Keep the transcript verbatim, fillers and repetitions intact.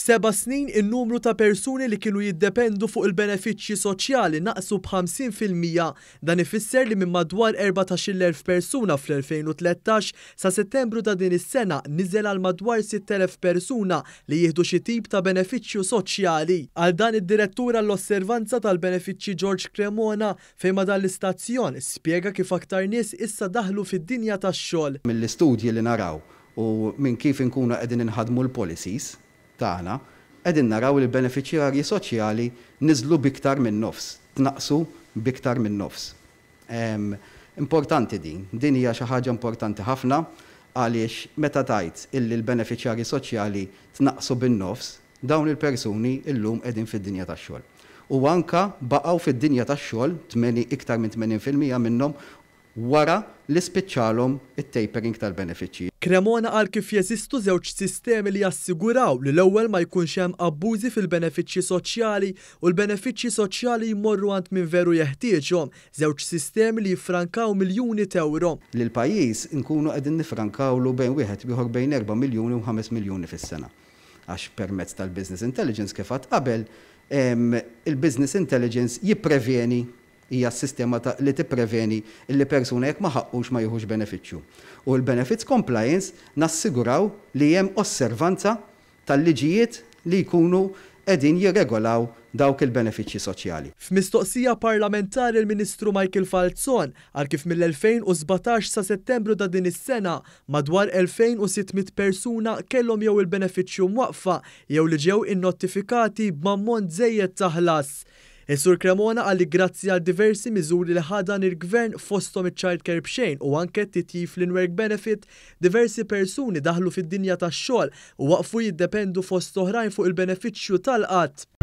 F'seba' snin, in-numru ta' persuni li kienu jiddependu fuq il-benefiċċji soċjali naqsu b'ħamsin fil-mija. Dan ifisser li minn madwar erbatax-il elf persuna fl-elfejn u tlettax, sa Settembru ta' din is-sena niżel għal madwar sitt elef persuna li jieħdu xi tip ta' benefiċċju soċjali. Għal dan, id-direttur għall-osservanza tal-benefiċċji George Cremona, fejn ma' dan l-istazzjon spjega kif aktar nies issa daħlu fid-dinja tax-xogħol. Mill-istudji li naraw u minn kif inkunu qegħdin inħadmu l-policies tagħna, qegħdin naraw li l-benefiċjarji soċjali niżlu biktar minn nofs, tnaqsu biktar minn nofs. Importanti din, din hija xi ħaġa importanti ħafna, għaliex meta tajt illi l-benefiċjarji soċjali tnaqsu bin-nofs, dawn il-persuni illum qegħdin fid-dinja tax-xogħol. U anka baqgħu fid-dinja tax-xogħol, iktar minn tmenin fil-mija minnhom, wara li spiċċalhom it-tapering tal-benefiċċji. Cremona qal kif jeżistu żewġ sistemi li jassiguraw li l-ewwel ma jkunx hemm abbużi fil-benefiċċji soċjali u l-benefiċċji soċjali jmorru għand min veru jeħtieġhom, żewġ sistemi li jiffrankaw miljuni t'euro. Li l-pajjiż nkunu qegħdin nifrankawlu bejn wieħed ieħor bejn erba' miljuni u ħames miljuni fis-sena. Għax permezz tal-business intelligence, kif għedt qabel, il-business intelligence jippreveni, hija s-sistema li tippreveni li persuna jekk ma ħaqqux ma jieħux benefiċċju. U l-benefits compliance nassiguraw li hemm osservanza tal-liġijiet li jkunu qegħdin jirregolaw dawk il-benefiċċji soċjali. F'mistoqsija parlamentari, il-Ministru Michael Falzon qal kif mill-elfejn u sbatax sa Settembru ta' din is-sena madwar elfejn u sitt mitt persuna kellhom jew il-benefiċċju mwaqfa jew li ġew innotifikati b'ammont żejjed ta' ħlas. Is-Sur Cremona qal li grazzi għal diversi miżuri li ħa dan il-gvern, fosthom iċ-childcare b'xejn u anke titjib fl-in-work benefit, diversi persuni daħlu fid-dinja tax-xogħol u waqfu jiddependu, fost oħrajn, fuq il-benefiċċju tal-qgħad.